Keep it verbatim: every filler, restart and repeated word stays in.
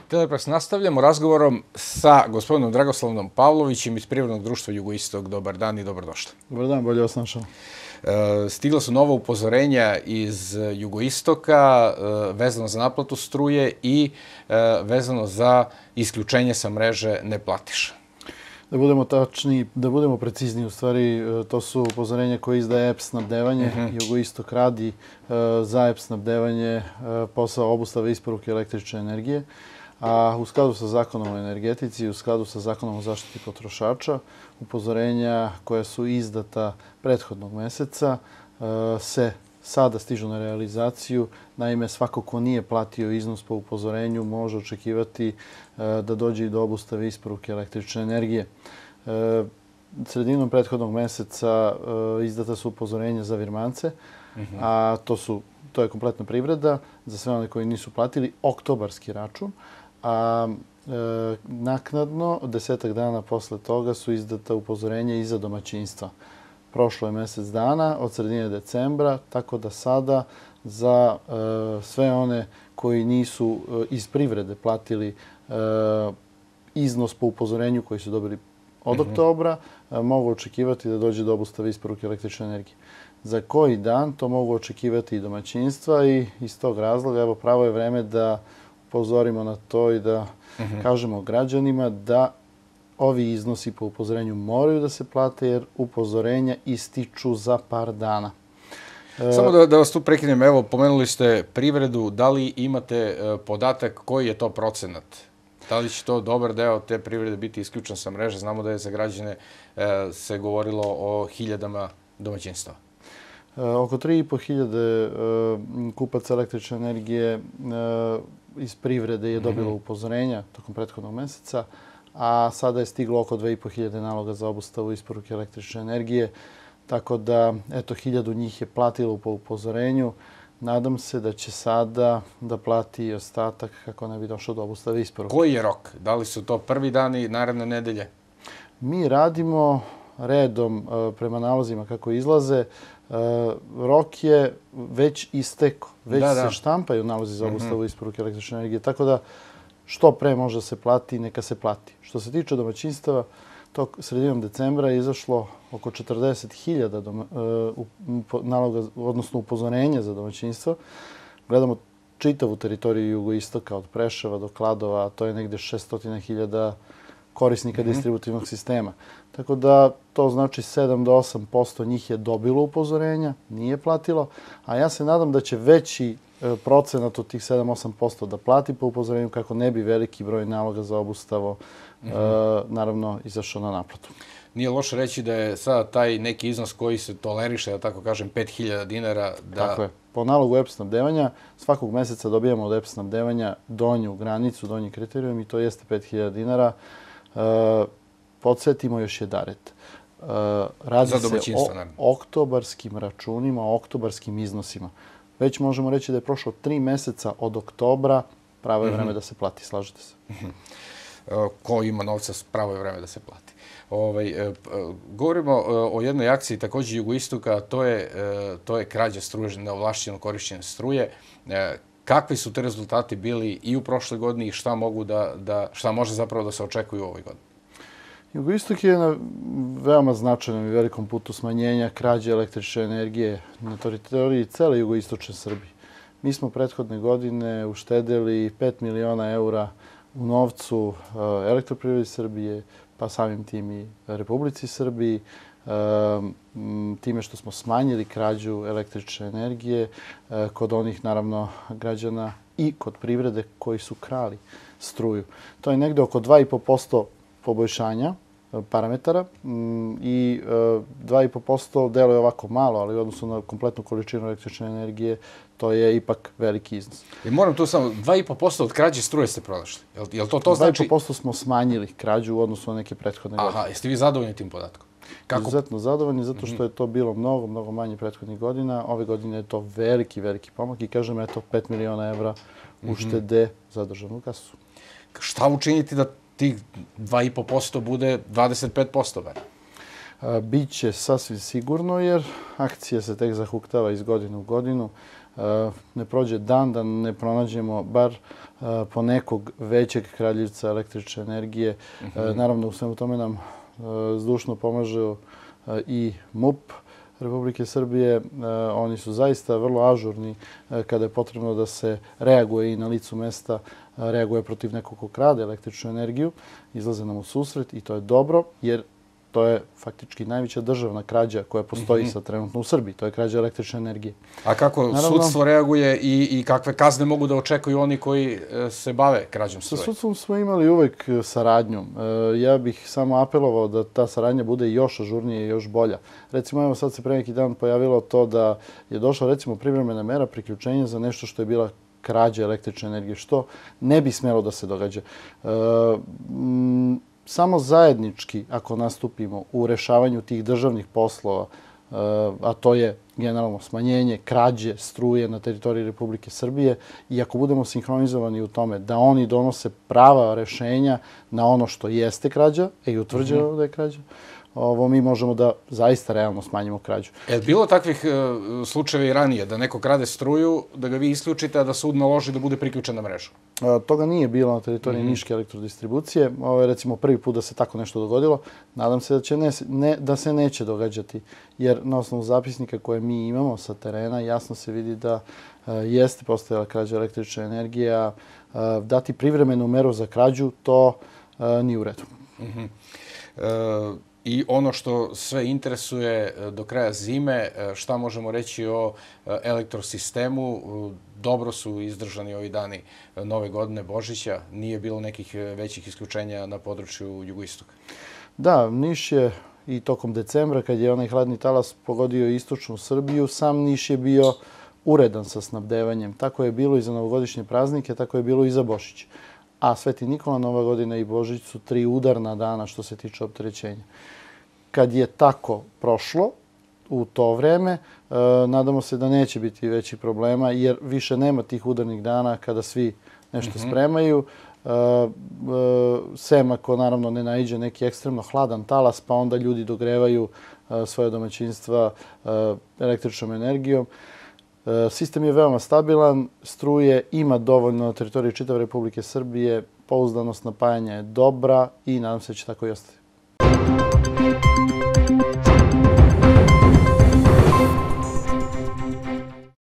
Telepress, nastavljamo razgovorom sa gospodinom Dragoslavnom Pavlovićem iz Privrednog društva Jugoistok. Dobar dan i dobrodošli. Dobar dan, bolje vas našao. Stigla su nova upozorenja iz Jugoistoka vezano za naplatu struje i vezano za isključenje sa mreže neplatiša. Da budemo tačni, da budemo precizni, u stvari to su upozorenja koje izdaje E P snabdevanje. Jugoistok radi za E P snabdevanje posao obustave isporuke električne energije, a u skladu sa zakonom o energetici i u skladu sa zakonom o zaštiti potrošača, upozorenja koja su izdata prethodnog meseca se sada stižu na realizaciju. Naime, svako ko nije platio iznos po upozorenju može očekivati da dođe i do obustave isporuke električne energije. Sredinom prethodnog meseca izdata su upozorenja za virmance, a to su to je kompletna privreda za sve one koji nisu platili oktobarski račun, a naknadno, desetak dana posle toga, su izdata upozorenja i za domaćinstva. Prošlo je mesec dana od sredine decembra, tako da sada za sve one koji nisu iz privrede platili iznos po upozorenju koji su dobili od oktobra, mogu očekivati da dođe do obustave isporuke električne energije. Za koji dan to mogu očekivati i domaćinstva i iz tog razloga evo pravo je vreme da upozorimo na to i da kažemo građanima da ovi iznosi po upozorenju moraju da se plate jer upozorenja ističu za par dana. Samo da, da vas tu prekinem, evo, pomenuli ste privredu, da li imate podatak koji je to procenat? Da li će to dobar deo te privrede biti isključen sa mreže? Znamo da je za građane se govorilo o hiljadama domaćinstva. Oko tri i po hiljade kupaca električne energije iz privrede je dobilo upozorenja tokom prethodnog meseca, a sada je stiglo oko dve i po hiljade naloga za obustavu isporuke električne energije. Tako da, eto, hiljadu njih je platilo po upozorenju. Nadam se da će sada da plati i ostatak kako ne bi došlo do obustave isporuke. Koji je rok? Da li su to prvi dani naredne nedelje? Mi radimo redom prema nalozima kako izlaze. Rok je već istekao. Već Da, da. se štampaju nalozi za obustavu isporuke električne energije. Tako da što pre može da se plati, neka se plati. Što se tiče domaćinstava, to sredinom decembra je izašlo oko četrdeset hiljada naloga, odnosno upozorenja za domaćinstva. Gledamo čitavu teritoriju Jugoistoka od Preševa do Kladova, a to je negdje šessto hiljada korisnika distributivnog sistema. Tako da to znači sedam do osam posto njih je dobilo upozorenja, nije platilo, a ja se nadam da će veći procenat od tih sedam do osam posto da plati po upozorenju kako ne bi veliki broj naloga za obustavu naravno izašao na naplatu. Nije loše reći da je sada taj neki iznos koji se toleriše, da tako kažem, pet hiljada dinara. Da... Tako je. Po nalogu E P snabdevanja svakog meseca dobijamo od E P snabdevanja donju granicu, donji kriterijum i to jeste pet hiljada dinara. Podsjetimo još jedaret. Radi se o oktobarskim računima, o oktobarskim iznosima. Već možemo reći da je prošlo tri meseca od oktobra, pravo je vreme da se plati, slažete se? Ko ima novca, pravo je vreme da se plati. Ovaj, govorimo o jednoj akciji također Jugoistoka, to je, to je krađa struje, neovlašćeno korišćenje struje. Kakvi su te rezultati bili i u prošloj godini i šta, mogu da, da, šta može zapravo da se očekuje u ovoj godini? Jugoistok je na veoma značajnom i velikom putu smanjenja krađe električne energije na teritoriji cele jugoistočne Srbije. Mi smo prethodne godine uštedeli pet miliona eura u novcu Elektroprivredi Srbije, pa samim tim i Republici Srbiji, time što smo smanjili krađu električne energije kod onih, naravno, građana i kod privrede koji su krali struju. To je negde oko dva i po posto poboljšanja parametara i dva i po posto deluje ovako malo, ali u odnosu na kompletnu količinu električne energije to je ipak veliki iznos. I moram tu samo, dva i po posto od krađe struje ste pronašli. Jel to to znači? dva i po posto smo smanjili krađu u odnosu na neke prethodne godine. Aha, jeste vi zadovoljni tim podatkom? Izuzetno zadovoljni, zato što je to bilo mnogo, mnogo manje prethodnih godina. Ove godine je to veliki, veliki pomak i kažem, eto, pet miliona evra uštede za državnu kasu. Šta učiniti da tih dva i po posto bude dvadeset pet posto bar? Biće sasvim sigurno jer akcija se tek zahuktava iz godine u godinu. Ne prođe dan da ne pronađemo bar po nekog većeg kraljevca električne energije. Naravno, u svemu tome nam zdušno pomaže i MUP Republike Srbije. Oni su zaista vrlo ažurni kada je potrebno da se reaguje i na licu mesta, reaguje protiv nekog ko krade električnu energiju. Izlaze nam u susret i to je dobro jer to je faktički najveća državna krađa koja postoji sad trenutno u Srbiji. To je krađa električne energije. A kako sudstvo reaguje i kakve kazne mogu da očekuju oni koji se bave krađom struje? Sa sudstvom smo imali uvek saradnju. Ja bih samo apelovao da ta saradnja bude još ažurnija i još bolja. Recimo, evo sad se pre neki dan pojavilo to da je došla recimo privremena mera priključenja za nešto što je bila krađa električne energije, što ne bi smelo da se događa. Samo zajednički, ako nastupimo u rešavanju tih državnih poslova, a to je generalno smanjenje krađe struje na teritoriji Republike Srbije, i ako budemo sinhronizovani u tome da oni donose prava rešenja na ono što jeste krađa, i utvrđeno da je krađa, ovo mi možemo da zaista realno smanjimo krađu. Je bilo takvih slučajeva i ranije, da neko krade struju, da ga vi isključite, a da sud naloži da bude priključen na mrežu? Toga nije bilo na teritoriji Niške elektrodistribucije. Ovo je recimo prvi put da se tako nešto dogodilo. Nadam se da se neće događati, jer na osnovu zapisnika koje mi imamo sa terena jasno se vidi da jeste postojala krađa električne energije, a dati privremenu meru za krađu, to nije u redu. I ono što sve interesuje do kraja zime, šta možemo reći o elektrosistemu? Dobro su izdržani ovi dani Nove godine, Božića. Nije bilo nekih većih isključenja na području jugoistoka. Da, Niš je i tokom decembra, kad je onaj hladni talas pogodio istočnu Srbiju, sam Niš je bio uredan sa snabdevanjem. Tako je bilo i za novogodišnje praznike, tako je bilo i za Božić. A Sveti Nikola, Nova godina i Božić su tri udarna dana što se tiče opterećenja. Kad je tako prošlo u to vreme, nadamo se da neće biti većih problema, jer više nema tih udarnih dana kada svi nešto spremaju. Sem ako naravno ne naiđe neki ekstremno hladan talas, pa onda ljudi dogrevaju svoje domaćinstva električnom energijom. Sistem je veoma stabilan, struje ima dovoljno na teritoriji čitave Republike Srbije, pouzdanost napajanja je dobra i nadam se da će tako i ostati.